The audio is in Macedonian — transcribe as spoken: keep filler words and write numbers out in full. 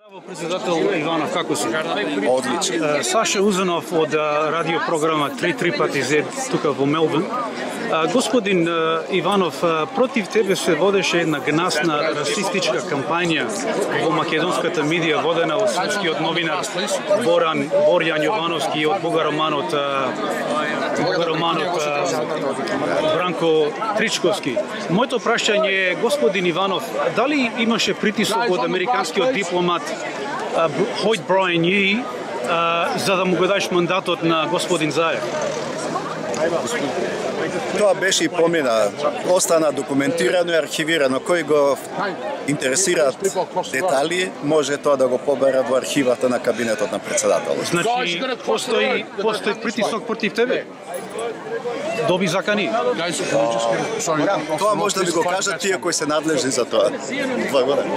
Председател Иванов, како си? Одлично. Саша Узанов од радиопрограма три три пати зет тука во Мелбурн. Господин Иванов, против тебе се водеше една гнасна расистичка кампања во македонската медија, водена од српскиот новинар Боран Борјан Јовановски и од бугароманот бугароманот Бранко Тричковски. Моето прашање е, господин Иванов, дали имаше притисок од американскиот дипломат Хойд Брайан Ји за да му го дадеш мандатот на господин Заев? Тоа беше и помина. Остана документирано и архивирано. Кој го интересираат детали, може тоа да го побере во архивата на кабинетот на председателот. Значи, постои, постои притисок против тебе? Доби закани? Тоа може да ви го кажат тие кои се надлежни за тоа. Благодарам.